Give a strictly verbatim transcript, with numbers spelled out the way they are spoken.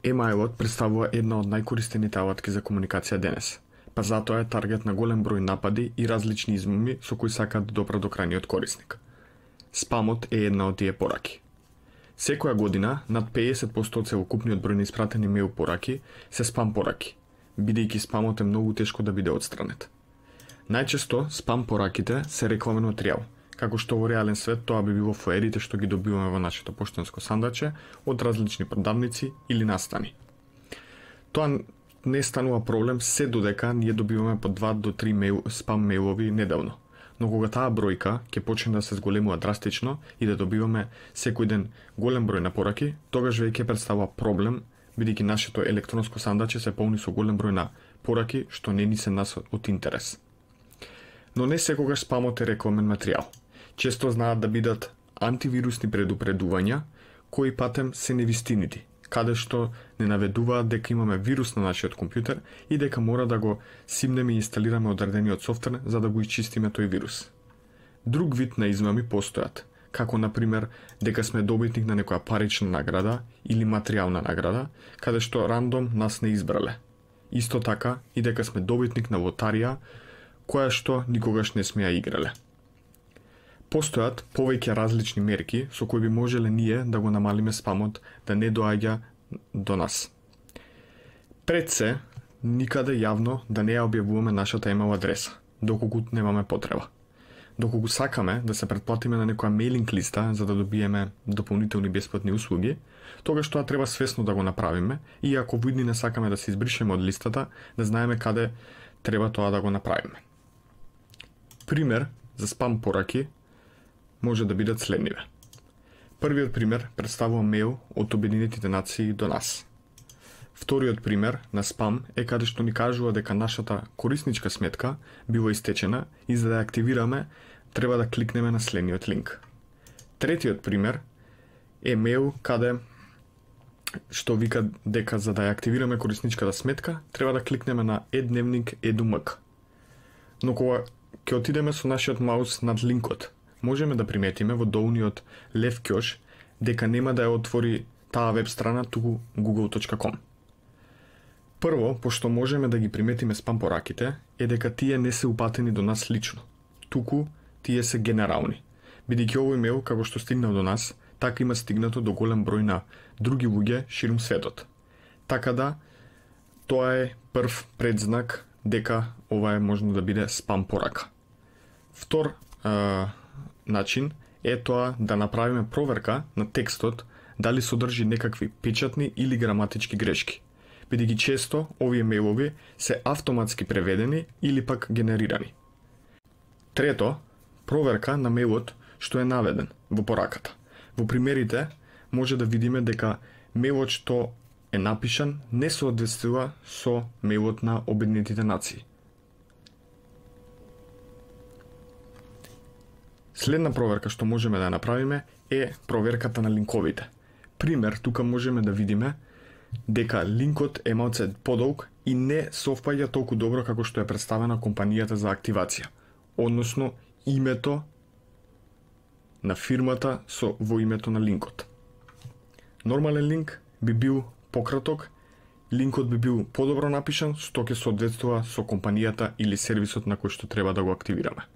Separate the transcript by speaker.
Speaker 1: Емаилот представува една од најкористените алатки за комуникација денес, па затоа е таргет на голем број напади и различни измами со кои сакаат да допрат до крајниот корисник. Спамот е една од тие пораки. Секоја година, над педесет проценти од целокупниот број на испратени мејл пораки се спам пораки, бидејќи спамот е многу тешко да биде отстранет. Најчесто спам пораките се рекламен материјал, како што во реален свет тоа би било фоерите што ги добиваме во нашето поштенско сандаче од различни продавници или настани. Тоа не станува проблем се додека ние добиваме по два до три мејл, спам мејлови неделно. Но кога таа бројка ќе почне да се зголемува драстично и да добиваме секој ден голем број на пораки, тогаш веќе представува проблем, бидејќи нашето електронско сандаче се полни со голем број на пораки што не ни се нас од интерес. Но не секогаш спамот е рекламен материјал. Често знаат да бидат антивирусни предупредувања, кои патем се невистинити, каде што не наведуваат дека имаме вирус на нашиот компјутер и дека мора да го симнеме и инсталираме одредениот софтвер за да го исчистиме тој вирус. Друг вид на измами постојат, како например дека сме добитник на некоја парична награда или материјална награда, каде што рандом нас не избрале. Исто така и дека сме добитник на лотарија, која што никогаш не сме ја играле. Постојат повеќе различни мерки со кои би можеле ние да го намалиме спамот да не доаѓа до нас. Пред се, никаде јавно да не ја објавуваме нашата имейл адреса, доколку немаме потреба. Доколку сакаме да се претплатиме на некоја мейлинг листа за да добиеме дополнителни бесплатни услуги, тогаш тоа треба свесно да го направиме и ако во иднина сакаме да се избришеме од листата, да знаеме каде треба тоа да го направиме. Пример за спам пораки може да бидат следниве. Првиот пример представува мејл од Обединетите нации до нас. Вториот пример на спам е каде што ни кажува дека нашата корисничка сметка била истечена и за да ја активираме треба да кликнеме на следниот линк. Третиот пример е мејл каде што вика дека за да ја активираме корисничката сметка треба да кликнеме на e-дневник точка e d u m k. Но кога ќе отидеме со нашиот маус над линкот, можеме да приметиме во долниот лев ќош дека нема да ја отвори таа веб страна, туку google точка com. Прво, пошто можеме да ги приметиме спам пораките, е дека тие не се упатени до нас лично, туку тие се генерални. Бидејќи овој мејл, како што стигнал до нас, така има стигнато до голем број на други луѓе ширум светот. Така да, тоа е прв предзнак дека ова е можно да биде спам порака. Втор е, начин е тоа да направиме проверка на текстот дали содржи некакви печатни или граматички грешки, бидејќи често овие мејлови се автоматски преведени или пак генерирани. Трето, проверка на мејлот што е наведен во пораката. Во примерите може да видиме дека мејлот што е напишан не соодветствува со мејлот на Обединетите нации. Следна проверка што можеме да направиме е проверката на линковите. Пример, тука можеме да видиме дека линкот е малце подолг и не совпаѓа толку добро како што е представена компанијата за активација, односно името на фирмата со во името на линкот. Нормален линк би бил пократок, линкот би бил подобро напишан, што ќе соодветствува со компанијата или сервисот на кој што треба да го активираме.